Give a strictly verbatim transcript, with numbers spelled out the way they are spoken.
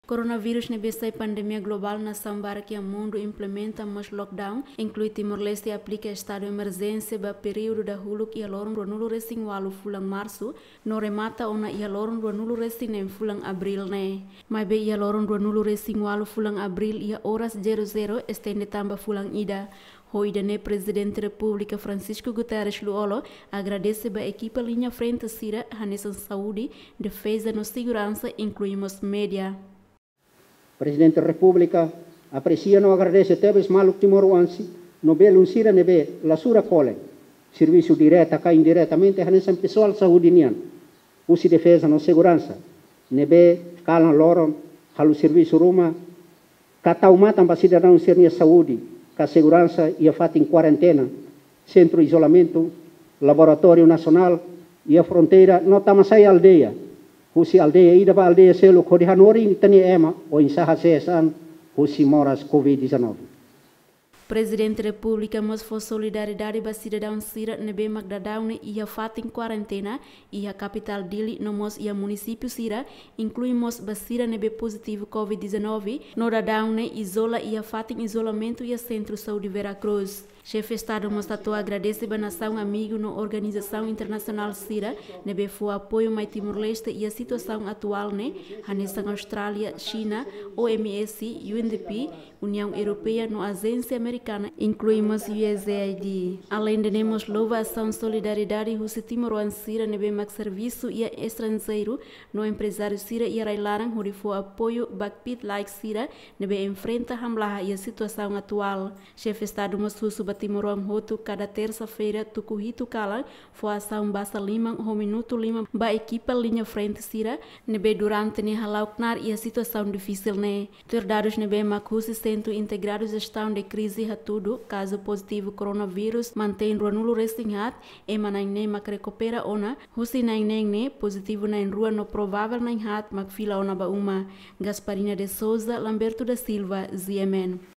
Koronavírus ne'ebé sai pandemia globál, nasaun barak iha mundu implementa mós lockdown, inklui Timor-Leste aplika estadu emerjénsia ba períodu dahuluk iha loron ruanulu resin ualu fulan Marsu, no remata ona iha loron ruanulu resin neen fulan Abríl ne'e. Maibé iha loron ruanulu resin ualu fulan Abríl iha oras zero zero estende tan ba fulan ida. Ho ida-ne'e Prezidente Repúblika Francisco Guterres Lú-Olo agradese ba ekipa liña frente sira hanesan saúde, defeza no seguransa, inklui mós média. Prezidente Repúblika apresia no agradese tebes maluk timoroan sira no belun sira ne'ebé la sura kole servisu direta ka indiretamente hanesan pesoál saúde nian, husi defeza no seguransa, ne'ebé kalan loron halo servisu ruma ka tau matan ba sidadaun sira-nia saúde ka seguransa iha fatin kuarentena, sentru izolamentu, laboratóriu nasionál iha fronteira no tama sai aldeia, husi aldeia ida ba aldeia seluk hodi hanorin ita-nia ema oinsá hasees an husi moras covid dezanove. Prezidente Repúblika mós fó solidariedade ba sidadaun sira ne'ebé mak daudaun ne'e iha fatin kuarentena iha kapitál Dili no mós iha munisípiu sira, inklui mós ba sira ne'ebé pozitivu covid dezanove no daudaun ne'e izola iha fatin izolamentu iha Sentru Saúde Vera Cruz. Xefe Estadu mós hato'o agradese ba nasaun amigu no organizasaun internasionál sira ne'ebé fó apoiu mai Timor-Leste iha situasaun atuál ne'e, hanesan Austrália, Xina, O M S, U N D P, Uniaun Europeia no ajénsia amerikana, inklui mós U S A I D. Aleinde ne'e mós louva asaun solidariedade husi timoroan sira ne'ebé mak servisu iha estranjeiru no emprezáriu sira iha rai-laran hodi fó apoiu ba kbiit-laek sira ne'ebé enfrenta hamlaha iha situasaun atuál. Xefe Estadu mós husu ba timoroan hotu kada tersa-feira tuku hitu kalan fó asaun basa liman ho minutu liman ba ekipa liña frente sira ne'ebé durante ne'e hala'o knaar iha situasaun difisil ne'e. Tuir dadus ne'ebé mak husi Sentru Integradu Jestaun de Krize hatudu, kazu pozitivu koronavírus mantein ruanulu resin haat, ema na'in-neen mak rekupera ona, husi na'in-neen ne'e pozitivu na'in-rua no provável na'in-haat mak fila ona ba uma. Gasparina de Souza, Lamberto da Silva, G M N.